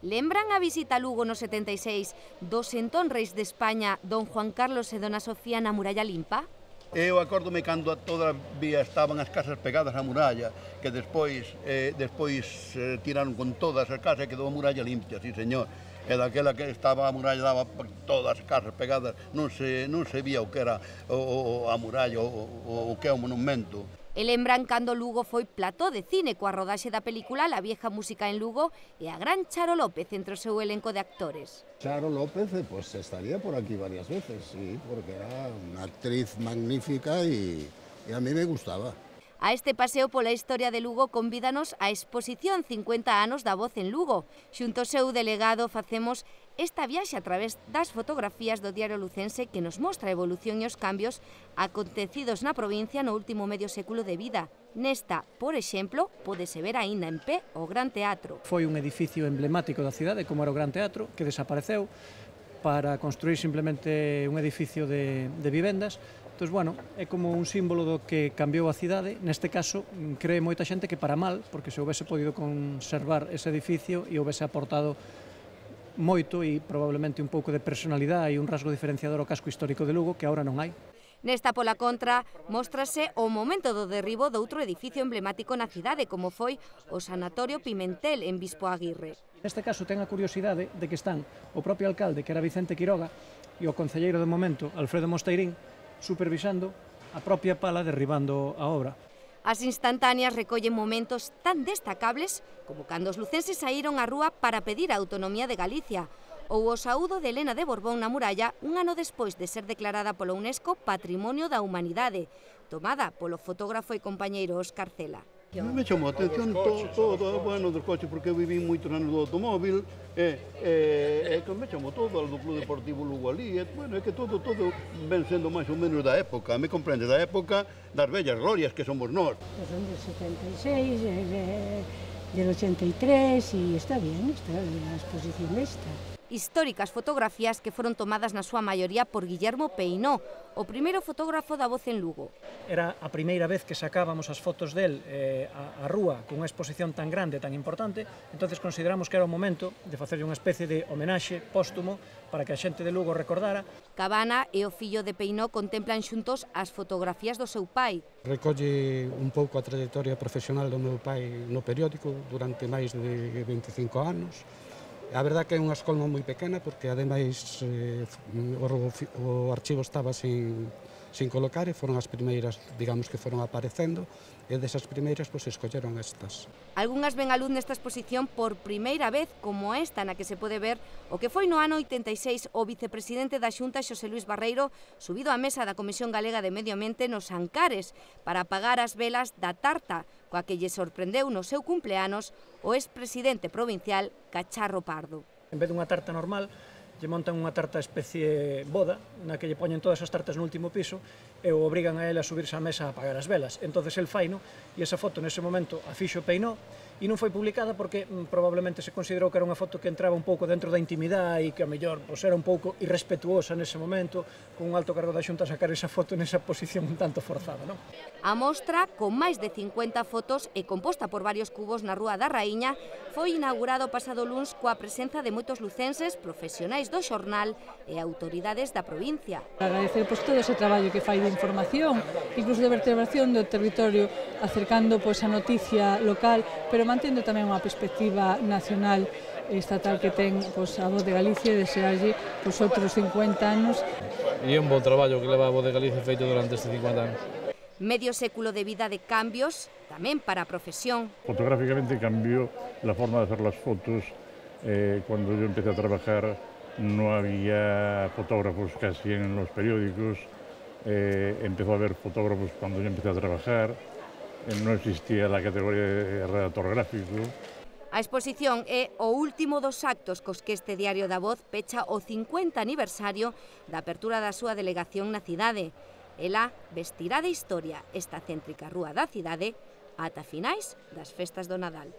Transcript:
Lembran a visita a Lugo no 76 dos entón reis de España, don Juan Carlos e dona Sofía na muralla limpa? Eu acórdome cando todavía estaban as casas pegadas á muralla, que despois tiraron con todas as casas e quedou a muralla limpia, sí señor. E daquela que estaba a muralla daba todas as casas pegadas, non se vía o que era a muralla, o que é o monumento. E lembran cando Lugo foi plató de cine coa rodaxe da película La vieja música en Lugo e a gran Charo López entre o seu elenco de actores. Charo López pues estaría por aquí varias veces, sí, porque era una actriz magnífica y a mí me gustaba. A este paseo pola historia de Lugo convídanos a exposición 50 anos da voz en Lugo. Xunto ao seu delegado facemos esta viaxe a través das fotografías do diario lucense que nos mostra a evolución e os cambios acontecidos na provincia no último medio século de vida. Nesta, por exemplo, pódese ver aínda en pé o Gran Teatro. Foi un edificio emblemático da cidade, como era o Gran Teatro, que desapareceu para construir simplemente un edificio de vivendas. Entón, bueno, é como un símbolo do que cambiou a cidade. Neste caso, cree moita xente que para mal, porque se houvese podido conservar ese edificio e houvese aportado moito e probablemente un pouco de personalidade e un rasgo diferenciador ao casco histórico de Lugo, que agora non hai. Nesta pola contra, móstrase o momento do derribo doutro edificio emblemático na cidade, como foi o Sanatorio Pimentel en Bispo Aguirre. Neste caso ten a curiosidade de que están o propio alcalde, que era Vicente Quiroga, e o concelleiro de momento, Alfredo Mosteirín, supervisando a propia pala derribando a obra. As instantáneas recollen momentos tan destacables como cando os lucenses saíron á rúa para pedir a autonomía de Galicia, ou o saúdo de Helena de Borbón na muralla un ano despois de ser declarada pola UNESCO Patrimonio da Humanidade, tomada polo fotógrafo e compañeiro Óscar Cela. Me chamou a atención todo, bueno, dos coches, porque eu viví moitos anos do automóvil, que me chamou todo, do Club Deportivo Lugo ali, bueno, é que todo ven sendo máis ou menos da época, me comprende, da época das vellas glorias que somos nós. Son del 76, del 83, e está bien, está a exposición esta. Históricas fotografías que foron tomadas na súa maioría por Guillermo Peinó, o primeiro fotógrafo da voz en Lugo. Era a primeira vez que sacábamos as fotos del á rúa con unha exposición tan grande, tan importante, entonces consideramos que era o momento de facerlle unha especie de homenaxe póstumo para que a xente de Lugo recordara. Cabana e o fillo de Peinó contemplan xuntos as fotografías do seu pai. Recolle un pouco a trayectoria profesional do meu pai no periódico durante máis de 25 anos. A verdade que é unha escolma moi pequena porque ademais o archivo estaba sin colocar e foron as primeiras, digamos, que foron aparecendo e desas primeiras pois escolleron estas. Algunhas ven a luz nesta exposición por primeira vez como esta na que se pode ver o que foi no ano 86 o vicepresidente da Xunta Xosé Luís Barreiro subido á mesa da Comisión Galega de Medio Ambiente nos Ancares para apagar as velas da tarta coa que lle sorprendeu no seu cumpleanos o expresidente provincial Cacharro Pardo. En vez dunha tarta normal, lle montan unha tarta especie boda, na que lle poñen todas as tartas no último piso e o obrigan a ele a subirse á mesa a apagar as velas. Entonces el faino, e esa foto nese momento a fixo Peinó, e non foi publicada porque probablemente se considerou que era unha foto que entraba un pouco dentro da intimidade e que a mellor era un pouco irrespetuosa nese momento, con un alto cargo da Xunta sacar esa foto nesa posición un tanto forzada, non? A mostra, con máis de 50 fotos e composta por varios cubos na Rúa da Raíña, foi inaugurado pasado luns coa presenza de moitos lucenses, profesionais do xornal e autoridades da provincia. Agradecer todo ese traballo que fai de información, incluso de vertebración do territorio, acercando a noticia local, pero mantendo tamén unha perspectiva nacional e estatal que ten a Voz de Galicia e desearlle outros 50 anos. E é un bon traballo que leva a Voz de Galicia feito durante estes 50 anos. Medio século de vida de cambios, tamén para a profesión. Fotográficamente cambió la forma de hacer las fotos. Cuando yo empecé a trabajar no había fotógrafos casi en los periódicos. Empezó a haber fotógrafos cuando yo empecé a trabajar. Non existía a categoría de redactor gráfico. A exposición é o último dos actos cos que este Diario da Voz pecha o 50 aniversario da apertura da súa delegación na cidade. Ela vestirá de historia esta céntrica rúa da cidade ata finais das festas do Nadal.